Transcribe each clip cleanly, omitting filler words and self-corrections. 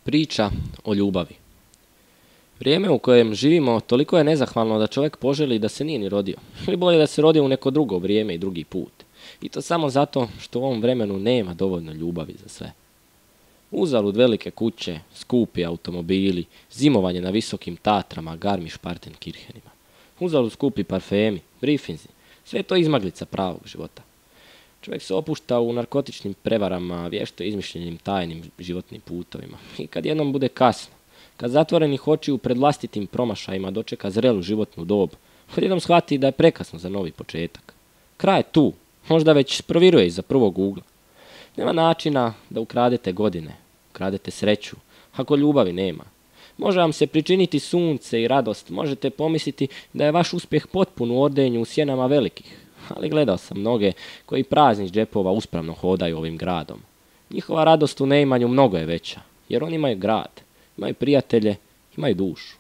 Priča o ljubavi. Vrijeme u kojem živimo toliko je nezahvalno da čovjek poželi da se nije ni rodio. Ili bolje da se rodio u neko drugo vrijeme i drugi put. I to samo zato što u ovom vremenu nema dovoljno ljubavi za sve. Uzalud velike kuće, skupi automobili, zimovanje na visokim Tatrama, Garmisch-Partenkirchenima. Uzalud skupi parfemi, briefinzi, sve je to izmaglica pravog života. Čovjek se opušta u narkotičnim prevarama, vješto izmišljenim tajnim životnim putovima. I kad jednom bude kasno, kad zatvorenih očiju pred vlastitim promašajima dočeka zrelu životnu dob, odjednom shvati da je prekasno za novi početak. Kraj je tu, možda već proviruje iza prvog ugla. Nema načina da ukradete godine, ukradete sreću, ako ljubavi nema. Može vam se pričiniti sunce i radost, možete pomisliti da je vaš uspjeh potpun u ordenju u sjenama velikih. Ali gledao sam mnoge koji prazni iz džepova uspravno hodaju ovim gradom. Njihova radost u neimanju mnogo je veća, jer oni imaju grad, imaju prijatelje, imaju dušu.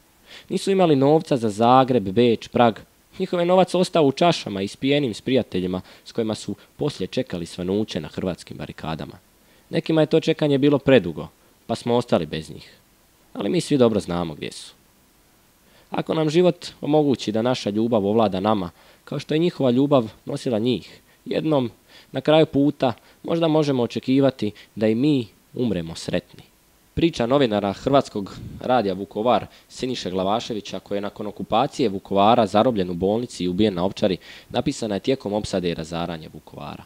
Nisu imali novca za Zagreb, Beč, Prag. Njihov je novac ostao u čašama ispijenim s prijateljima s kojima su poslije čekali svanuće na hrvatskim barikadama. Nekima je to čekanje bilo predugo, pa smo ostali bez njih. Ali mi svi dobro znamo gdje su. Ako nam život omogući da naša ljubav ovlada nama, kao što je njihova ljubav nosila njih, jednom, na kraju puta, možda možemo očekivati da i mi umremo sretni. Priča novinara Hrvatskog radija Vukovar Siniše Glavaševića, koji je nakon okupacije Vukovara zarobljen u bolnici i ubijen na Ovčari, napisana je tijekom opsade i razaranja Vukovara.